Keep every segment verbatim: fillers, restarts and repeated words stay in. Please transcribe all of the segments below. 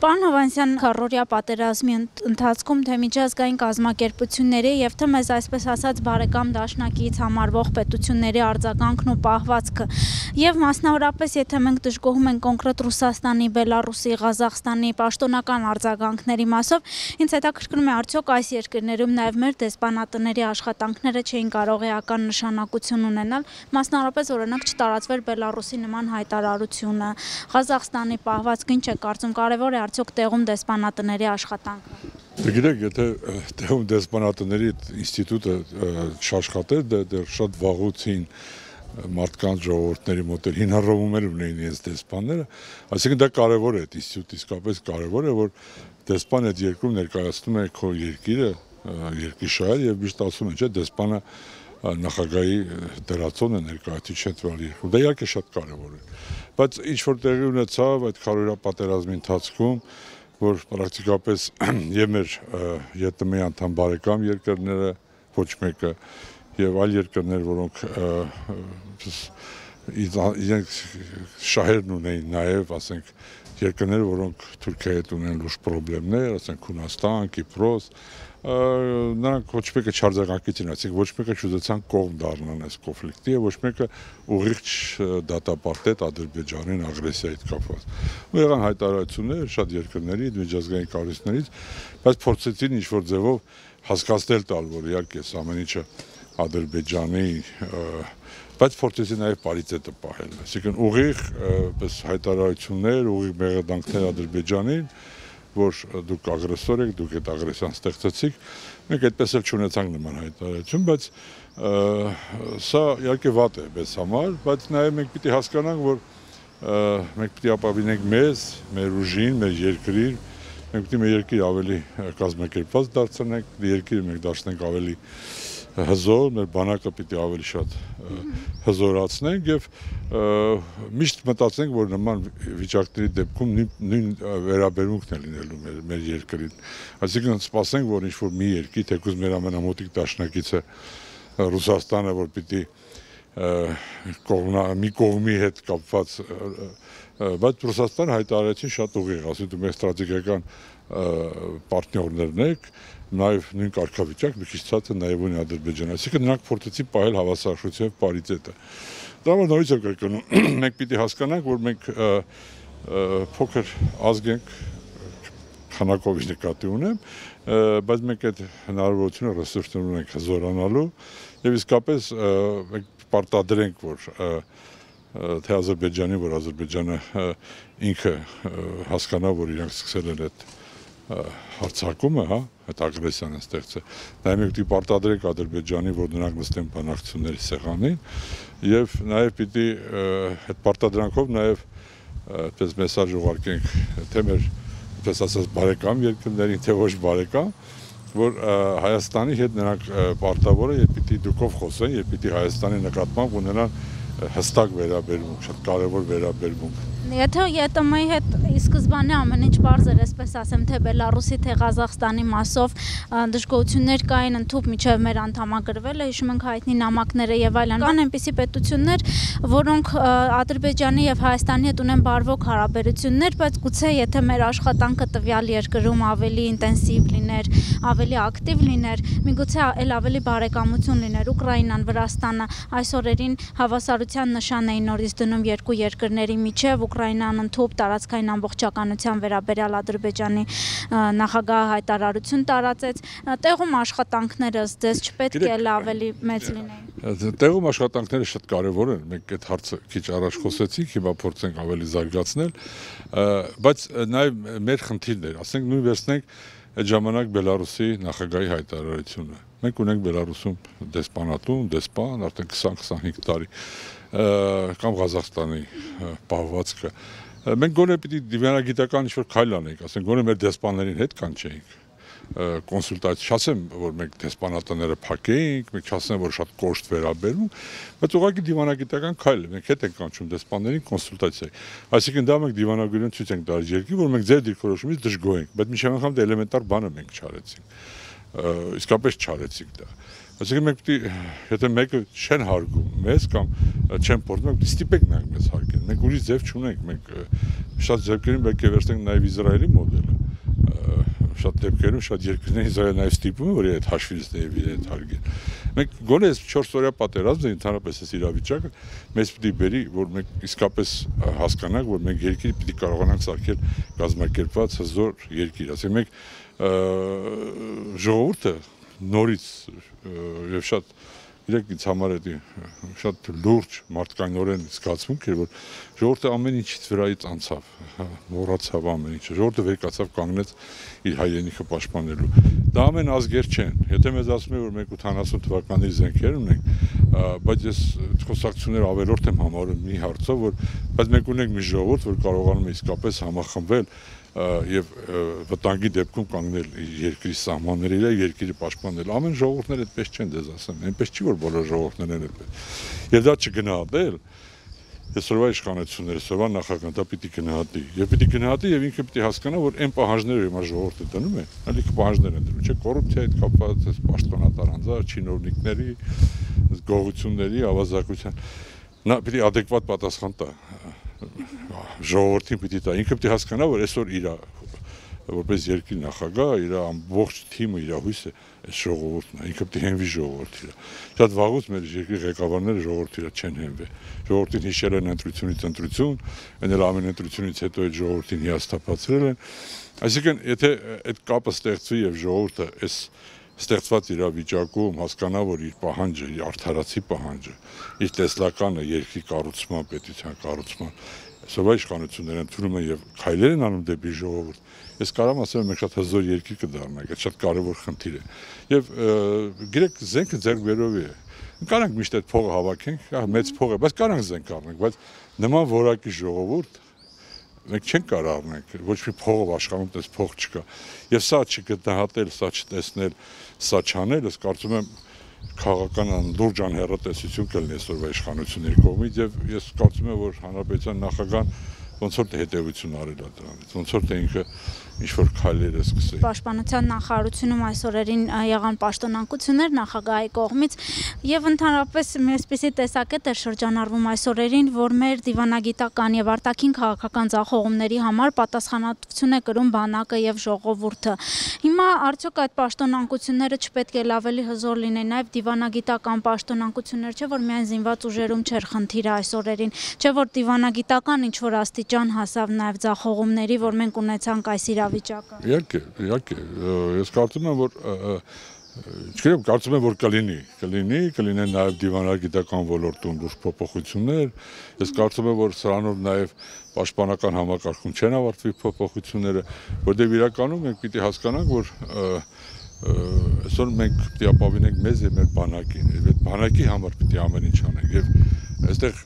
Պարոն Հովհաննիսյան, քառօրյա պատերազմի ընթացքում թե միջազգային կազմակերպությունների եւ թե մեզ այսպես ասած բարեկամ դաշնակից համարվող պետությունների արձագանքն ու պահվածքը եւ մասնավորապես եթե մենք դժգոհում ենք կոնկրետ Ռուսաստանի, Բելարուսի, Ղազախստանի պաշտոնական արձագանքների մասով, ինձ հետաքրքրում է արդյոք այս երկրներում նաեւ մեր դեսպանատների աշխատանքները չէին կարող էական նշանակություն ունենալ, մասնավորապես օրինակ չտարածվեր Բելարուսի նման հայտարարությունը, Ղազախստանի պահվածքը ինչ է կարծում, կարևոր է արդյոք տեղում դեսպանատների աշխատանքը։ Գիտեք, եթե տեղում դեսպանատների ինստիտուտը չաշխատեր, դեռ շատ վաղուց մարդկանց ժողովուրդների մոտ հինարովում ունեին իրենց դեսպանները, այսինքն դա կարևոր է, այդ ինստիտուտը իսկապես կարևոր է, որ դեսպան այդ երկրում ներկայացնում է քո երկիրը, երկրի եւ միշտ ասում են, չէ, դեսպանը նախագահի դերացոնը ներկայացուցիչ է տվյալ երկրում, դա իհարկե շատ կարևոր է, բայց ինչ որ տեղի ունեցավ այդ քառօրյա պատերազմի ընթացքում, որ պրակտիկապես եւ մեր ԵՏՄ-ի անդամ բարեկամ երկրները, ոչ մեկը եւ այլ երկրներ, որոնք իրենք շահերն ունեին նաեւ, ասենք, երկրներ, որոնք Թուրքիայի հետ ունեն լուրջ խնդիրներ, ասենք Հունաստան, Կիպրոս, նրանք ոչ մեկը չարձագանքեցին, այսինքն ոչ մեկը չուզեցան կողմ դառնան այս կոնֆլիկտի եւ ոչ մեկը ուղիղ դատապարտեց Ադրբեջանին ագրեսիայից կապված։ Ու եղան հայտարարություններ շատ երկրների, միջազգային կառույցներից, բայց փորձեցին ինչ-որ ձևով հասկացնել տալ, որ իհարկե ամեն ինչը Ադրբեջանի, բայց փորձեցին նաեւ պարիտետը պահել, այսինքն ուղիղ հայտարարություններ, ուղիղ մեղադրանքներ Ադրբեջանին, որ դուք ագրեսոր եք, դուք այդ ագրեսիան ստեղծեցիք, մենք այդպես էլ չունեցանք նման հայտարարություն, բայց սա իհարկե վատ է մեզ համար, բայց նաեւ մենք պիտի հասկանանք, որ մենք պիտի ապավինենք մեզ, մեր ուժին, մեր երկրին, մենք պիտի մեր երկիրը ավելի կազմակերպված դարձնենք, երկիրը մենք դարձնենք ավելի հզոր, մեր բանակը պիտի ավելի շատ հզորացնենք եւ միշտ մտածենք, որ նման վիճակների դեպքում նույն վերաբերմունքն է լինելու մեր, մեր երկրին։ Այսինքն սպասենք, որ ինչ-որ մի երկիր, թեկուզ մեր ամենամոտիկ դաշնակիցը Ռուսաստանը, որ պիտի կողմնա, մի կողմի հետ կապված, բայց Ռուսաստանը հայտարարեցին շատ ուղիղ, ասում դու մեր ստրատեգիական պարտներներն եք, նաև նույն կարգավիճակ, մի քիչ ցածր նաև ունի Ադրբեջանը, այսինքն նրանք փորձեցին պահել հավասարակշռություն եւ պարիտետը։ Դա որ նորից եմ կրկնում, մենք պիտի հասկանանք, որ մենք փոքր ազգ ենք, քանակով նկատի ունեմ, բայց մենք այդ հնարավորությունը ռեսուրսներ ունենք հզորանալու եւ իսկապես մենք պարտադրենք, որ թե Ադրբեջանի, որ Ադրբեջանը ինքը հասկանա, որ իրանք սկսել են այդ հարցակումը, հա, այդ ագրեսիան ստեղծել։ Նաև մենք պիտի պարտադրենք Ադրբեջանի, որ նրանք նստեն բանակցությունների սեղանին եւ նաև պիտի այդ պարտադրանքով նաև այդպես մեսաժ ուղարկենք թե մեր, այդպես ասած, բարեկամ երկրներին, թե ոչ բարեկամ, որ Հայաստանի հետ նրանք պարտավոր են եւ պիտի դուքով խոսեն եւ պիտի Հայաստանի նկատմամբ ունենան հստակ վերաբերմունք, շատ կարևոր վերաբերմունք։ Եթե ԵՏՄ-ի հետ ի սկզբանե ամեն ինչ պարզ էր, այսպես ասեմ, թե Բելարուսի, թե Ղազախստանի մասով դժգոհություններ կային ընդհանուր միջև մեր անդամագրվելը, հիշում ենք հայտնի նամակները եւ այլն։ Կան այնպիսի պետություններ, որոնք Ադրբեջանի եւ Հայաստանի հետ ունեն բարվոք հարաբերություններ, բայց գուցե եթե մեր աշխատանքը տվյալ երկրում ավելի ինտենսիվ լիներ, ավելի ակտիվ լիներ, միգուցե էլ ավելի բարեկամություն լիներ Ուկրաինան, Վրաստանը, այս օրերին հավասարության նշան էին նորից դնում երկու երկրների միջև, Ուկրաինան ընդհանուր տարածքային ամբողջականության վերաբերյալ Ադրբեջանի նախագահը հայտարարություն տարածեց, տեղում աշխատանքները ձեզ չպետք է ավելի մեծ լինեին։ Տեղում աշխատանքները շատ կարևոր են, մենք այդ հարցը քիչ առաջ խոսեցինք, հիմա փորձենք ավելի զարգացնել, բայց նաև մեր խնդիրներ, ասենք նույն վերցնենք այդ ժամանակ Բելարուսի նախագահի հայտարարությունը։ Մենք ունենք Բելարուսում դեսպանատուն, դեսպան արդեն քսան-քսանհինգ տարի, կամ Ղազախստանի պահվածքը։ Մենք գոնե պիտի դիվանագիտական ինչ-որ քայլ անենք, ասենք գոնե մեր դեսպաններին հետ կանչեինք, կոնսուլտացիա, չասեմ, որ մենք դեսպանատները փակեինք, մենք չասեմ, որ շատ կոշտ վերաբերում, բայց ուղղակի դիվանագիտական քայլ է, մենք հետ ենք կանչում դեսպաններին կոնսուլտացիա։ Այսինքն դա մենք դիվանագիտություն ցույց ենք տալիս երկրի, որ մենք ձեր դիրքորոշումից դժգոհ ենք, բայց միշտ անգամ դա էլեմենտար բանը մենք չարեցինք, իսկապես չարեցինք դա։ Այսինքն մենք պիտի, եթե մեկը չեն հարգում մեզ կամ չեն փորձում, մենք ստիպենք նրանք մեզ հարգեն։ Մենք ուրիշ ձև չունենք, մենք շատ ձեռքերին պետք է վերցնենք նաև Իսրայելի մոդելը։ Շատ դեպքերում շատ երկրներ Իսրայելը նաև ստիպում է, որ այդ հաշվից դեպի այդ հարգեն։ Մենք գոնե այս չորս օրյա պատերազմը ընդհանրապես այս իրավիճակը մեզ պիտի բերի, որ մենք իսկապես հասկանանք, որ մենք երկիր պիտի կարողանանք սարքել կազմակերպված հզոր երկիր։ Ասենք մենք ժողովուրդը նորից եւ շատ իրեք ինձ համար է շատ լուրջ մարդկայնորեն զգացմունք էր, որ ժողովուրդը ամեն ինչից վրայից անցավ, մոռացավ ամեն ինչը, ժողովուրդը վեր կացավ կանգնեց իր հայրենիքը պաշտպանելու։ Դա ամեն ազգեր չեն։ Եթե մեզ ասում են, որ մենք ութանասուն թվականի զենքեր ունենք, բայց ես խոսակցություններ ավելորդ եմ համարում մի հարցով, որ բայց մենք ունենք մի ժողովուրդ, որ կարողանում է իսկապես համախմբվել եւ վտանգի դեպքում կանգնել երկրի սահմանների վրա, երկիրը պաշտպանել։ Ամեն ժողովուրդները այդպես չեն, դες ասեմ, այնպես չի, որ բոլոր ժողովուրդներն են այդպես։ Եվ դա չգնահատել, այսօրվա իշխանությունները, այսօրվա նախագահը դա պիտի գնահատի։ Եվ պիտի գնահատի եւ ինքը պիտի հասկանա, որ այն պահանջները, որ ժողովուրդը դնում է, ալիք պահանջներ են դնում, չէ՞, կոռուպցիայի հետ կապված, պաշտպանատար անձար, չինովնիկների, գողությունների, ավազակության։ Նա պիտի adekvat պատասխան տա։ Ժողովրդին պիտի տա, ինքը պիտի հասկանա, որ այսօր իր որպես երկրի նախագահ, իր ամբողջ թիմը, իր հույսը այս ժողովուրդն է, ինքը պիտի հենվի ժողովրդի վրա։ Շատ վաղուց մեր երկրի ղեկավարները ժողովրդի վրա չեն հենվել։ Ժողովրդին հիշել են ընտրությունից ընտրություն, այն էլ ամեն ընտրությունից հետո այդ ժողովրդին հիասթափացրել են։ Այսինքն, եթե այդ կապը ստեղծվի եւ ժողովուրդը այս ստեղծված իրավիճակում հասկանա, որ իր պահանջը, իր արդարացի պահանջը, իր տեսլականը երկրի կառուցման, պետության կառուցման, այսօրվա իշխանությունները ընդունում են եւ քայլեր են անում դեպի ժողովուրդ։ Ես կարամ ասեմ, մենք շատ հզոր երկիր կդառնանք, այդ շատ կարեւոր խնդիր է։ Եվ գիտեք, զենքը ձեռք բերովի է։ Կարանք միշտ այդ փողը հավաքենք, մեծ փող է, բայց կարանք զենք առնենք, բայց նման որակի ժողովուրդ մենք չենք կարող առնենք, ոչ մի փողով աշխարհում դες փող չկա։ Եվ սա չգտնահատել, սա չտեսնել, սա չանել, ես կարծում եմ քաղաքական լուրջ անհեռատեսություն կլինի այսօրվա իշխանությունների կողմից եւ ես կարծում եմ, որ հանրապետության նախագահան ոնց որ հետեւություն արել է դրանից, ոնց որ թե ինքը ինչ-որ քայլեր է սկսել։ Պաշտպանության նախարարությունում այս օրերին եղան պաշտոնանկություններ նախագահի կողմից եւ ընդհանրապես այսպիսի տեսակետ էր շրջանառվում այս օրերին, որ մեր դիվանագիտական եւ արտաքին քաղաքական ձախողումների համար պատասխանատվություն է կրում բանակը եւ ժողովուրդը։ Հիմա արդյոք այդ պաշտոնանկությունները չպետք է ավելի հզոր լինեն, նաեւ դիվանագիտական պաշտոնանկություններ, չէ՞ որ միայն զինված ուժերում չէր խնդիրը այս օրերին, չէ՞ որ դիվանագիտական ինչ որ աստիճան հասավ նաեւ ձախողումների, որ մենք ունեցանք այս իրավիճակը։ Իհարկե, իհարկե, ես կարծում եմ, որ չգիտեմ, կարծում եմ, որ կլինի, կլինի, կլինեն նաև դիվանագիտական ոլորտում լուրջ փոփոխություններ։ Ես կարծում եմ, որ սրանով նաև պաշտպանական համակարգում չեն ավարտվի փոփոխությունները, որտեղ իրականում մենք պիտի հասկանանք, որ այսօր մենք պիտի ապավինենք մեզ եւ մեր բանակին, եւ այդ բանակի համար պիտի ամեն ինչ անենք եւ այստեղ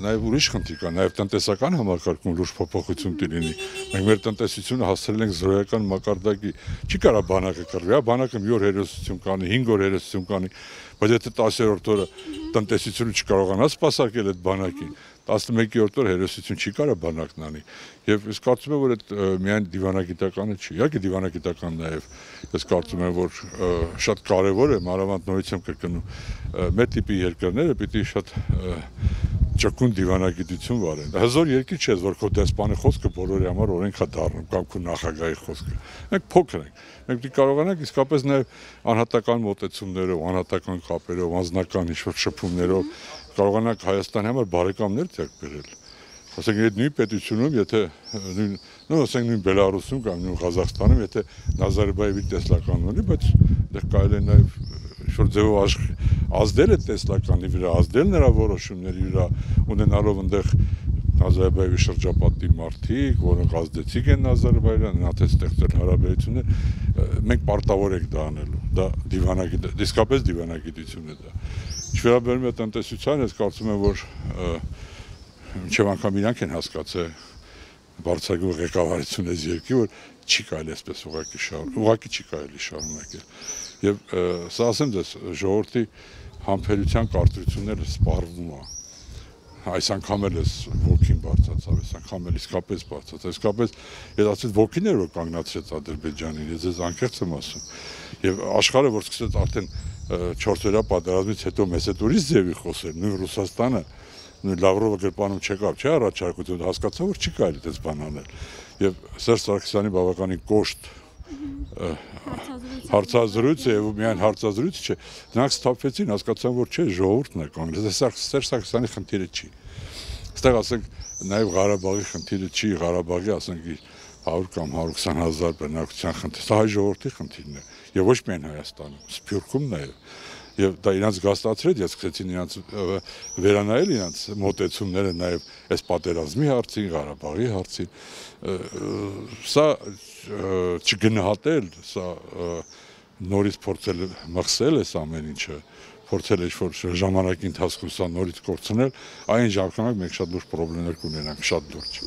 նաև ուրիշ խնդիր կա, նաև տնտեսական համակարգում լուրջ փոփոխություն կլինի։ Մենք մեր տնտեսությունը հասցրել ենք զրոյական մակարդակի։ Չի կարա բանակը կռվի, հա, բանակը մի օր հերոսություն կանի, հինգ օր հերոսություն կանի, բայց եթե տասերորդ օրը տնտեսությունը չկարողանա սպասարկել այդ բանակին, տասնմեկերորդ օր հերոսություն չի կարա բանակն անի։ Եվ ես կարծում եմ, որ այդ միայն դիվանագիտականը չի, իհարկե դիվանագիտական նաև ես կարծում եմ, որ շատ կարևոր է, մանավանդ նորից եմ կրկնում, մեր տիպի երկրները պիտի շատ ճկուն դիվանագիտություն վարեն։ Հզոր երկիր չէ, որ քո դեսպանի խոսքը բոլորի համար օրենք է դառնում կամ քո նախագահի խոսքը։ Մենք փոքր ենք։ Մենք պիտի կարողանանք իսկապես նաև անհատական մոտեցումներով, անհատական կապերով, անձնական ինչ-որ շփումներով կարողանանք Հայաստանի համար բարեկամներ ձեռք բերել։ Ասենք այդ նույն պետությունում, եթե նույն, նո ասենք նույն Բելարուսում կամ նույն Ղազախստանում, եթե Նազարբաևի տեսլականն ունի, բայց այդտեղ կարելի է նաև ինչ-որ ձևով ազդել է տեսլականի վրա, ազդել նրա որոշումների վրա, ունենալով այնտեղ Նազարբաևի շրջապատի մարդիկ, որոնք ազդեցիկ են Նազարբաևյան, նա թե ստեղծել հարաբերություններ, մենք պարտավոր ենք դա անելու։ Դա դիվանագիտ, իսկապես դիվանագիտություն է դա։ Ինչ վերաբերում է տնտեսությանը, ես կարծում եմ, որ մինչև անգամ իրանք են հասկացել բարձրագույն ղեկավարություն այս երկրի, որ չի կարելի այսպես ուղղակի շարունակել, ուղղակի չի կարելի շարունակել։ Եվ սա ասեմ ձեզ, ժողովրդի համբերության կարծրությունները սպառվում է։ Այս անգամ էլ էս ոգին բարձրացավ, այս անգամ էլ իսկապես բարձրացավ, իսկապես ես ասեցի ոգին էր, որ կանգնացրեց Ադրբեջանին, ես ձեզ անկեղծ եմ ասում։ Եվ աշխարհը, որ սկսեց արդեն չորսօրյա պատերազմից հետո մեզ հետ ուրիշ ձևի խոսել, նույն Ռուսաստանը, նույն Լավրովը գրպանում չեկավ, չէ՞ առաջարկություն, հասկացա, որ չի կարելի այդպես բան անել։ Եվ Սերժ Սարգսյանի բավականին կոշտ հարցազրույցը եւ միայն հարցազրույցը չէ, նրանք ստափվեցին, հասկացան, որ չէ, ժողովուրդն է կանգնած, Սերժ Սարգսյանի խնդիրը չի։ Այստեղ ասենք նաեւ Ղարաբաղի խնդիրը չի, Ղարաբաղի ասենք հարյուր կամ հարյուր քսան հազար բնակության խնդիր, սա հայ ժողովրդի խնդիրն է եւ ոչ միայն Հայաստանում, Սփյուռքում նաեւ։ Եվ դա իրանց գաստացրեց, ես սկսեցին իրանց վերանայել իրանց մոտեցումները նաև այս պատերազմի հարցին, Ղարաբաղի հարցին, սա չգնահատել, սա նորից փորձել մխսել այս ամեն ինչը, փորձել ինչ-որ ժամանակի ընթացքում սա նորից կորցնել, այն ժամանակ մենք շատ լուրջ խնդիրներ կունենանք, շատ լուրջ։